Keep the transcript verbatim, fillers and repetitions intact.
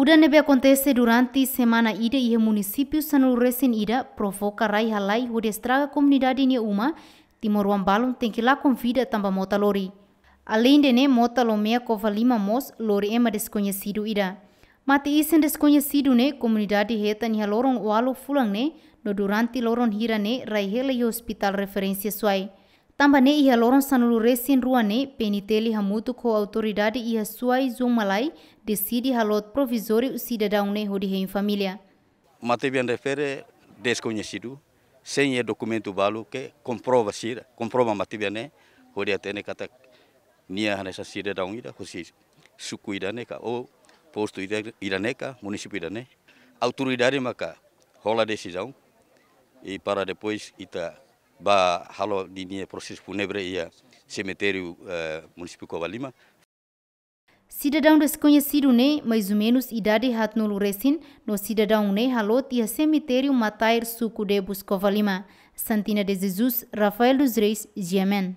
Duda ne'ebé akontese durante semana ida iha munisípiu sanulu-resin-ida provoka rai halai hodi estraga komunidade nia uma, timoroan balun tenke lakon vida tanba mota lori. Aleinde ne'e, mota Lomea Covalima mós lori ema deskoñesidu ida. Mate isin deskoñesidu ne'e komunidade hetan iha loron ualu fulan ne'e, no durante loron hira ne'e rai hela iha ospitál referénsia Suai. Tanba ne'e iha loron sanulu-resin-rua ne'e, P N T L hamutuk ho autoridade iha Suai Zummalai deside halo provizóriu sidadaun ne'e hodi hein família. Matebian refere deskoñesidu, sein iha dokumentu balu ke komprova sira, komprova matebian ne'e, hodi hatene katak nia hanesan sidadaun ida, husi suku ida-ne'e ka, ou postu ida, ida-ne'e ka, munisípiu ida-ne'e. Autoridade maka hola desizaun, i para depois ita bá halo ninia prosesu fúnebre iha semitériu, eh, munisípiu Covalima. Sidadaun deskoñesidu ne'e, mais ou menus idade haatnulu-resin, no sidadaun ne'e haloot iha semitériu Matair, suku Debus, Covalima. Santina de Jesus, Rafael dos Reis, G M N.